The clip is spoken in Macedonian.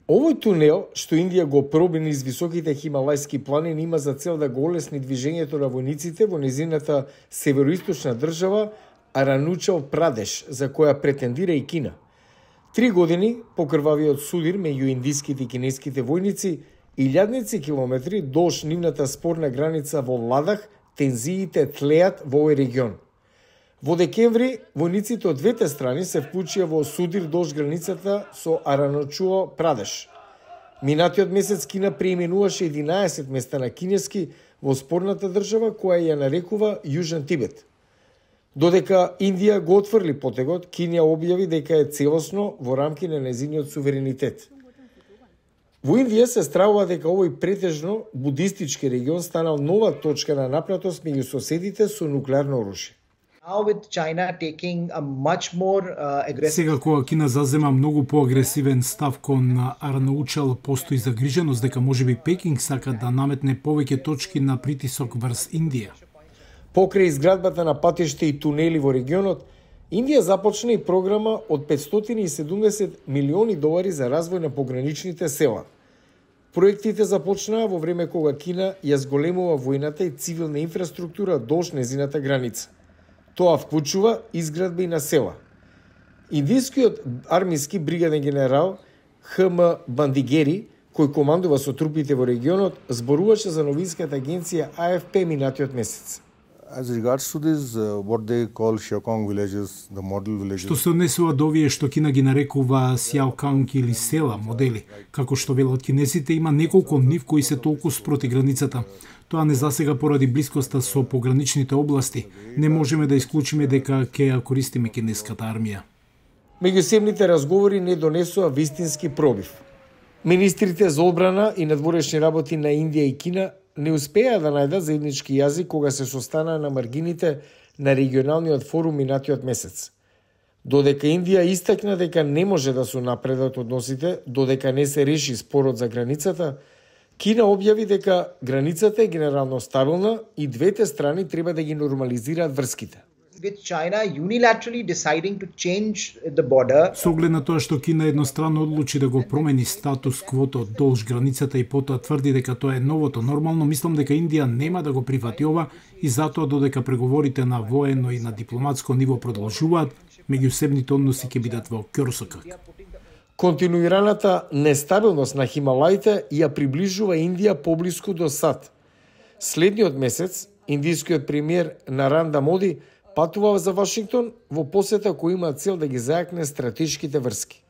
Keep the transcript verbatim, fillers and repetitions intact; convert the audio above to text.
Овој тунел, што Индија го проби низ високите хималајски планини, има за цел да го олесни движењето на војниците во незината североисточна држава Аранучал Прадеш, за која претендира и Кина. Три години по крвавиот судир меѓу индиските и кинеските војници, илјадници километри долж нивната спорна граница во Ладах, тензиите тлеат во овој регион. Во декември, војниците од двете страни се вклучија во судир долж границата со Аранучал Прадеш. Минатиот месец Кина преименуваше единаесет места на кинески во спорната држава која ја нарекува Јужен Тибет. Додека Индија го отфрли потегот, Кина објави дека е целосно во рамки на незиниот суверенитет. Во Индија се стравува дека овој претежно будистички регион станал нова точка на напнатост меѓу соседите со нуклеарно оружје. Сега кога Кина зазема многу поагресивен став кон Аранучал, постои загриженост дека можеби Пекинг сака да наметне повеќе точки на притисок врз Индија. Покрај изградбата на патишта и тунели во регионот, Индија започна и програма од петстотини и седумдесет милиони долари за развој на пограничните села. Проектите започнаа во време кога Кина ја зголемува војната и цивилна инфраструктура долж незината граница. Тоа вклучува изградба и на села. Индискиот армиски бригаден генерал Х М Бандигери, кој командува со трупите во регионот, зборуваше за новинската агенција А Ф П минатиот месец. As regards to this, uh, what they call Xiaokong villages, the model villages. Што се однесува до овие што Кина ги нарекува Сяоканг или села, модели, како што велат кинезите, има неколку нив кои се толку спроти границата. Тоа не засега поради блискоста со пограничните области. Не можеме да исклучиме дека ќе ја користиме кинеската армија. Меѓусебните разговори не донесува вистински пробив. Министрите за одбрана и надворешни работи на Индија и Кина не успеа да најдат заеднички јазик кога се состанаа на маргините на регионалниот форум минатиот месец. Додека Индија истакна дека не може да се напредат односите, додека не се реши спорот за границата, Кина објави дека границата е генерално стабилна и двете страни треба да ги нормализираат врските. With China unilaterally deciding to change the border. Со оглед на тоа што Кина едностранно одлучи да го промени статус квото долж границата и потоа тврди дека тоа е новото нормално, мислам дека Индија нема да го прифати ова и затоа додека преговорите на воено и на дипломатско ниво продолжуваат, меѓусебните односи ќе бидат во ќорсокак. Континуираната нестабилност на Хималаите ја приближува Индија поблиску до САД. Следниот месец, индискиот премиер Нарендра Моди патува за Вашингтон во посета која има цел да ги зајакне стратешките врски.